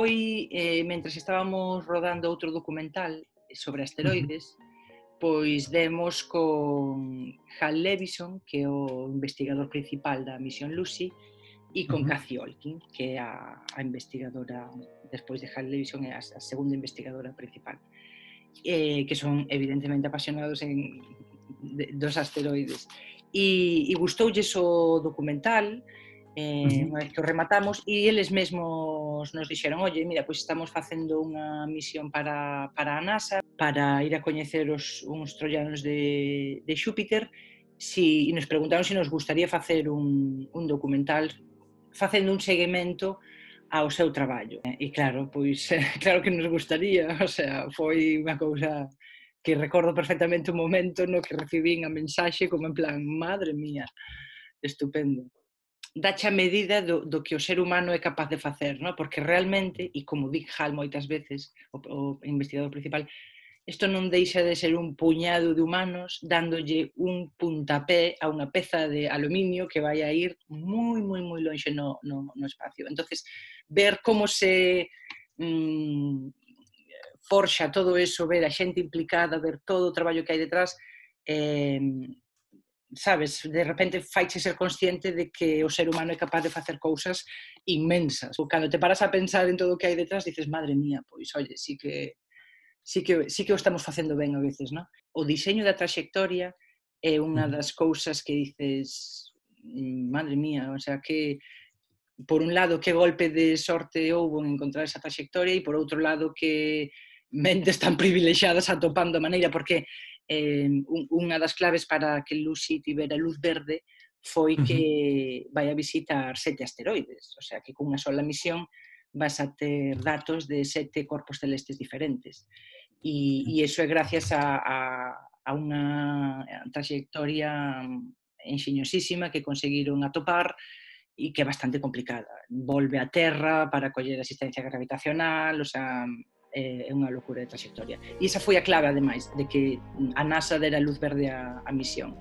foi, mentres estábamos rodando outro documental sobre asteroides, pois demos con Hal Levison, que é o investigador principal da misión Lucy, e con Cathy Olkin, que é a investigadora, despois de Hal Levison, é a segunda investigadora principal, que son evidentemente apasionados dos asteroides. E gustoulles o documental, unha vez que o rematamos, e eles mesmos nos dixeron: oye, mira, pois estamos facendo unha misión para a NASA para ir a coñecer uns troianos de Xúpiter, e nos preguntaron se nos gustaría facer un documental facendo un seguimento ao seu traballo. E claro, pois claro que nos gustaría, o sea, foi unha cousa que recordo perfectamente o momento no que recibín a mensaxe como en plan, madre mía, estupendo. Dache a medida do que o ser humano é capaz de facer, ¿no? Porque realmente, e como di Hal moitas veces, o investigador principal, isto non deixa de ser un puñado de humanos dándolle un puntapé a unha peza de aluminio que vai a ir moi, moi, moi lonxe no espacio. Entonces, ver como se forxa todo eso, ver a xente implicada, ver todo o traballo que hai detrás, sabes, de repente faiche ser consciente de que o ser humano é capaz de facer cousas inmensas. Cando te paras a pensar en todo o que hai detrás, dices, madre mía, pois, oye, sí que o estamos facendo ben a veces, non? O diseño da traxectoria é unha das cousas que dices, madre mía, o sea, que por un lado que golpe de sorte houbo en encontrar esa traxectoria e por outro lado que mentes tan privilexiadas atopando a maneira, porque unha das claves para que Lucy tivera luz verde foi que vai a visitar 7 asteroides, o sea que cunha sola misión vas a ter datos de 7 corpos celestes diferentes. E iso é gracias a unha trayectoria enxeñosísima que conseguiron atopar e que é bastante complicada. Volve á Terra para coller asistencia gravitacional, o sea, é unha locura de trayectoria. E esa foi a clave, ademais, de que a NASA dera luz verde á misión.